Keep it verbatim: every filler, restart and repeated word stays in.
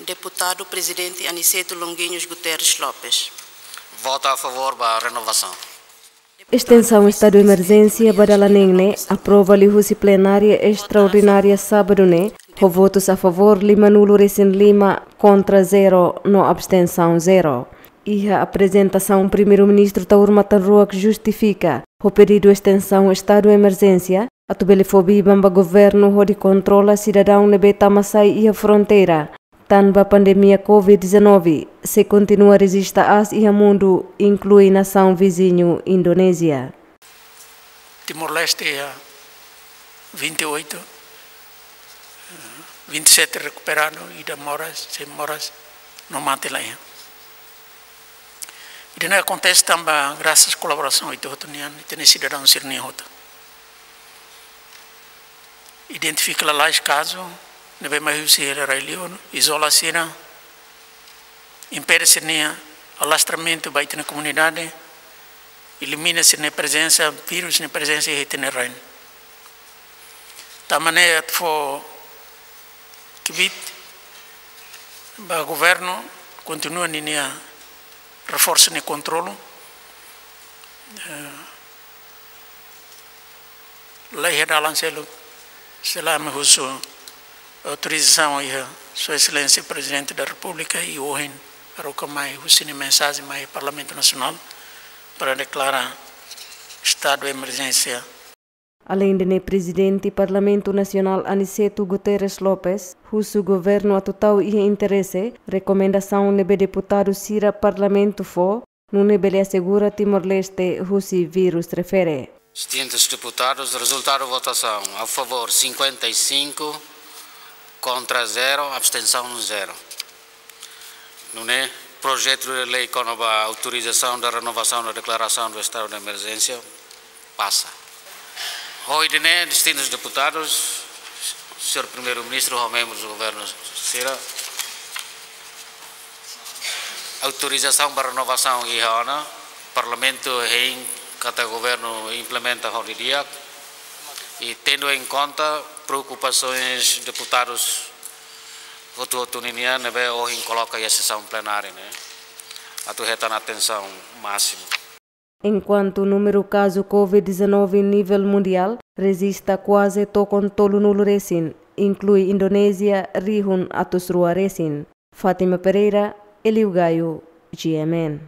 Deputadu Prezidente Aniceto Longuinhos Guterres Lopes. Vota a favor ba renovasaun. Estensaun estadu emerjénsia ba dala neen ne'e aprova liuhusi plenária estraordinária sábadu ne'e, ho votus a favor lima nulu resin lima, kontra zero, no abstensaun zero. Iha aprezentasaun Primeiru-Ministru Taur Matan Ruak justifika ho pedidu estensaun estadu emerjénsia, atu bele fó biban ba governu hodi kontrola sidadaun ne'ebé tama sai iha fronteira, tanba pandemia covid dezanove sei kontinua rejista aas iha mundu, inklui nasaun viziñu Indonézia. Timor-Leste iha vinte e oito, vinte e sete rekuperadu, ida moras, sei moras, no mate la iha. Ida-ne'e akontese tanba grasas kolaborasaun ita hotu nian, ita-nia sidadaun sira-nian hotu. Identifika lalais kazu ne'ebé mai husi rai-li'ur, izola sira, impede sira-nia alastramentu ba ita-nia komunidade, elimina sira-nia prezensa, vírus nia prezensa iha ita-nia rain. Tanba ne'e atu fó kbiit ba governu kontinua ninia reforsa nia kontrolu. Eh, la iha dalan seluk, se la mai husu autorizasaun iha Sua Exelénsia Prezidente da Repúblika i ohin haruka mai husi nia mensajen mai Parlamentu Nasionál para deklara estadu emerjénsia. Aleinde ne'e, Prezidente Parlamentu Nasionál Aniceto Guterres Lopes husu governu atu tau iha interese rekomendasaun ne'ebé deputadu sira Parlamentu fó, nune'e bele asegura Timor-Leste husi vírus refere. Distintus deputadus, rezultadu votasaun: a favor cinquenta e cinco, kontra zero, abstensaun zero. Nune'e projetu de lei kona-ba autorizasaun da renovasaun da deklarasaun do estadu de emerjénsia pasa. Ho ida-ne'e, distintus deputadus, señór Primeiru-Ministru ho membrus governu sira, autorizasaun ba renovasaun iha ona, Parlamentu hein katak governu implementa ho di'ak, i tendu em conta preokupasoens deputadus hotu-hotu ninian ne'ebé ohin koloka iha sesaun plenária ne'e, atu hetan atensaun másimu. Enkuantu númeru kazu covid dezanove nivel mundiál rejista kuaze tokon tolu nulu resin, inklui Indonézia rihun atus rua resin. Fátima Pereira, Eliu Gaio, G M N.